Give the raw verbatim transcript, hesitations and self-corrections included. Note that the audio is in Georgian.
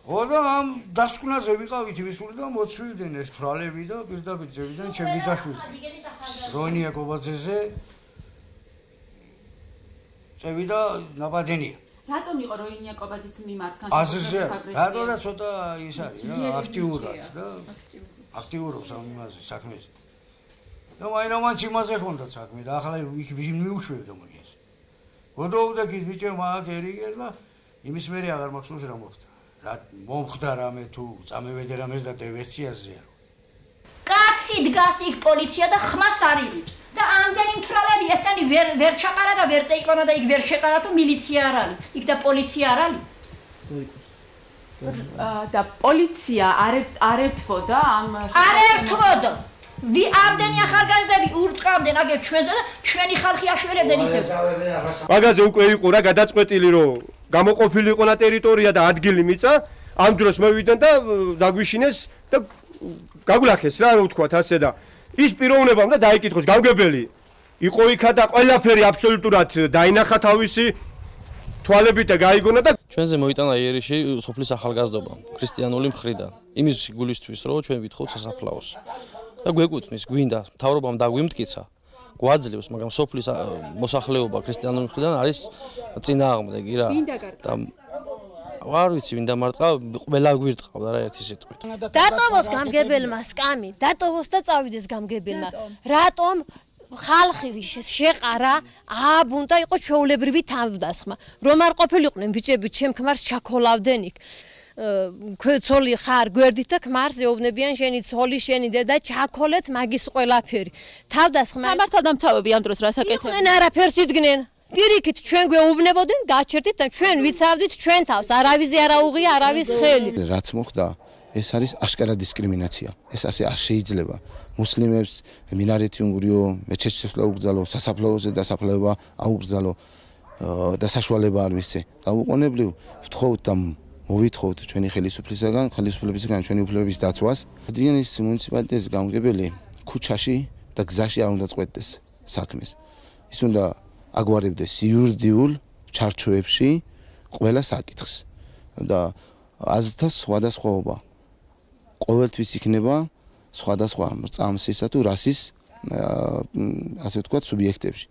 ხო და ამ დასკვნაზე ვიყავით მისული და მოცვივდნენ ეს ფრალები და პირდაპირ ძევიდან ჩემი ბიძაშვილი როინია კობაძეზე წევიდა ნაბადენია. რატომ იყო როინია კობაძის მიმართ განსაკუთრებით აგრესია? რატო და ცოტა ის არის რა აქტიურად და აქტიურობს ამ იმაზე საქმეზე. და მაინც იმაზე ხონდა საქმე და ახლა იქ მიუშვებდა მოიეს. გოდოვდა კი ბიჭებმა აქ ერიგერ და იმის მერე აღარ მახსოვს რა მოხდა. რა მომხდა რამე თუ წამევედე რამეს და ტევესციაზე არა. კაცი დგას იქ პოლიცია და ხმას არიღებს. და ამდენი მთრალები ესენი ვერ ვერ ჩაყარა და ვერ წეიყონა და იქ ვერ შეყარა თუ მილიცია არ არის. იქ და პოლიცია არ არის. და პოლიცია არ არ ერთვოდა ამ არ ერთვოდა. ვი ამდენი ახალგაზრდები ურტყავდნენ აგერ ჩვენზე და ჩვენი ხალხი აშველებდნენ ისევ. მაგაზე უკვე იყო რა გადაწყვეტილი რომ გამოყოფილი იყო და ტერიტორია და ადგილი მიწა ამ დროს მოვიდნენ და დაგვიშინეს და გაგულახეს რა რო ვთქვათ ასე და ის პიროვნებამ და დაიკითხოს გამგებელი იყო იქა და ყველაფერი აბსოლუტურად დაინახა თავისი თვალებით და გაიგონა და ჩვენზე მოიტანა იერიში სოფლის ახალგაზრდობა ქრისტიანული მხრიდან იმის გულისთვის რომ ჩვენ ვითხოვთ სასაფლაოს და გვეკუთვნის გვინდა მთავრობამ დაგვიმტკიცა გვაძლევს მაგრამ სოფლის მოსახლეობა ქრისტიანული მხრიდან არის წინააღმდეგი რა და არ ვიცი ვინ დამარტყა ყველა გვირტყავდა რა ერთი სიტყვით დატოვოს გამგებელმა სკამი დატოვოს და წავიდეს გამგებელმა რატომ ხალხის შეყარა ააბუნდა იყო ჩვეულებრივი თავდასხმა რომ არ ყოფილიყვნენ ბიჭები ჩემ ქმარს ჩაქოლავდნენ იქ ქცოლი ხარ გვერდით და ქმარს ეუბნებიან შენი ცოლი შენი დედა ჩაქოლეთ მაგის ყველაფერი თავდასხმა სამართალდამცავები ამ დროს რას აკეთებდნენ იყვნენ არაფერს იდგნენ პირიქით ჩვენ გვეუბნებოდნენ გაჩერდით და ჩვენ ვიცავდით ჩვენ თავს არავის არ აუღია არავის ხელი რაც მოხდა ეს არის აშკარა დისკრიმინაცია ეს ასე არ შეიძლება მუსლიმებს მინარეთი უნგრიო მეჩეთს აუგზავნო სასაფლაოზე დასაფლავება აუგზავნო და საშუალება არ მისცე დაუყოვნებლივ ვთხოვთ და მოვითხოვთ ჩვენი ხელისუფლებისგან ხელისუფლებისგან ჩვენი უფლებების დაცვას ადრიანის მუნიციპალიტეტის გამგებელი ქუჩაში და გზაში არ უნდა წყვეტდეს საქმეს ის უნდა აგვარებდეს იურიდიულ ჩარჩოებში ყველა საკითხს და აზრთა სხვადასხვაობა ყოველთვის იქნება სხვადასხვა მრწამსისა თუ რასის ასე ვთქვათ სუბიექტებში